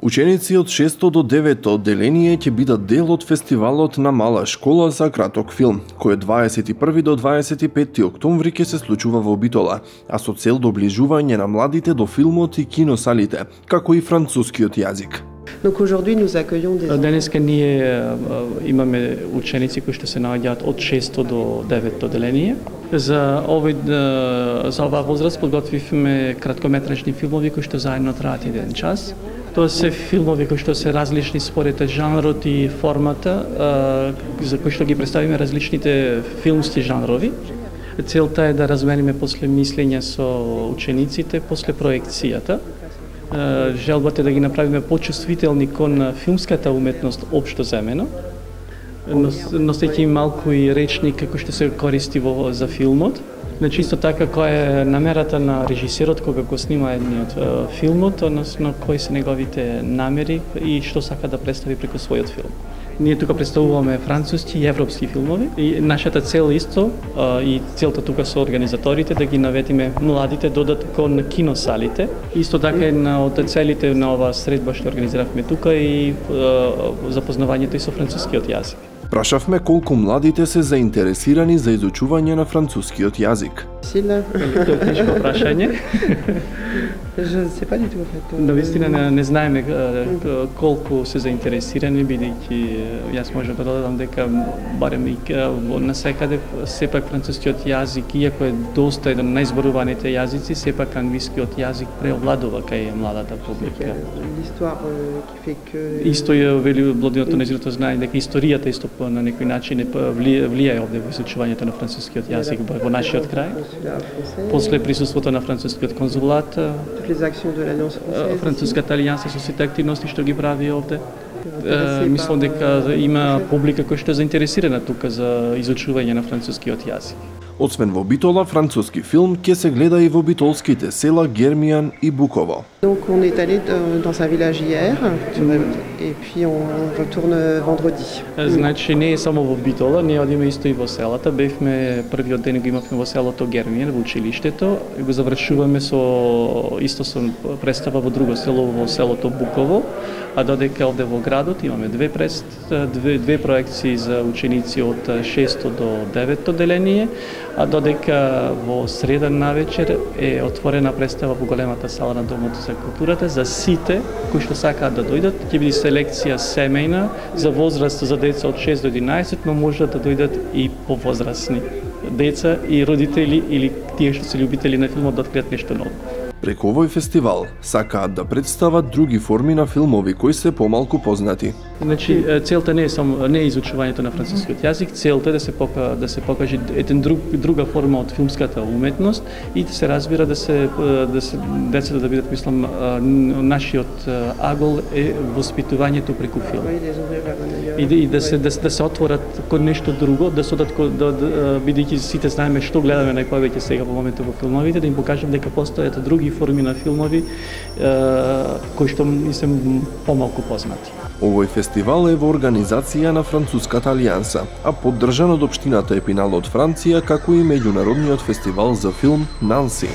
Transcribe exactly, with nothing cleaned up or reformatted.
Ученици од шесто до девето одделение ќе бидат дел од фестивалот на Мала школа за краток филм, кој од дваесет и први до дваесет и петти октомври ќе се случува во Битола, а со цел доближување на младите до филмот и киносалите, како и францускиот јазик. Денеска ние имаме ученици кои што се наоѓаат од шесто до девето одделение. За овој за оваа возраст подготвивме краткометражни филмови кои што заедно траат еден час. Тоа се филмови кои што се различни според жанрот и формата, за кои што ги представиме различните филмски жанрови. Целта е да размениме после мислење со учениците после проекцијата. Желбата е да ги направиме почувствителни кон филмската уметност општо земено, носејќи им малку и речник како што се користи во за филмот. Значи исто така која е намерата на режисерот кога го снима едниот филмот, односно кои се неговите намери и што сака да представи преку својот филм. Ние тука представуваме француски и европски филмови и нашата цел исто и целта тука со организаторите да ги наведиме младите додат кон киносалите. Исто така една од целите на оваа средба што организиравме тука и запознавањето и со францускиот јазик. Прашавме колку младите се заинтересирани за изучување на францускиот јазик. Тоа е тешко прашање. Навистина не, не знаеме колку се заинтересирани, бидејќи јас можам да додадам дека барем и насекаде сепак францускиот јазик, иако е доста еден од најзборуваните јазици, сепак англискиот јазик преовладува кај младата публика. Исто е вели Блодиното незирото знае дека историјата исто на некој начин влијае овде во изучувањето на францускиот јазик во нашиот крај. После присуството на францускиот конзулат, француската алијанса со сите активности што ги прави овде. Мислам дека има публика која што е заинтересирана тука за изучување на францускиот јазик. Освен во Битола, француски филм ќе се гледа и во битолските села Гермијан и Буково. Donc on est allé dans un village hier et puis on retourne vendredi. Значи не е само во Битола, ние одиме исто и во селата. Бевме првиот ден го имавме во селото Гермијан во училиштето, го завршуваме со исто со представа во друго село во селото Буково, а додека овде во градот имаме две пред две две проекции за ученици од шесто до девето одделение, а додека во среда навечер е отворена представа во големата сала на Домот за културата за сите кои што сакаат да дојдат. Ќе биде селекција семејна за возраст за деца од шест до единаесет, но можат да дојдат и повозрасни деца и родители или тие што се љубители на филмот да откријат нешто ново. Преку овој фестивал сакаат да представат други форми на филмови кои се помалку познати. Значи целта не е само не е изучувањето на францускиот јазик, целта е да се пока, да се покаже еден друг друга форма од филмската уметност и да се разбира да се да се децата да бидат, мислам, нашиот агол е воспитувањето преку филм. И да, и да се да, да се отворат кон нешто друго, да се одат да, да бидејќи сите знаеме што гледаме најповеќе сега во моментот во филмовите, да им покажем дека постојат други форми на филмови кои што се помалку познати. Овој фестивал е во организација на Француската алијанса, а поддржан од општината Епинал од Франција, како и меѓународниот фестивал за филм Нанси.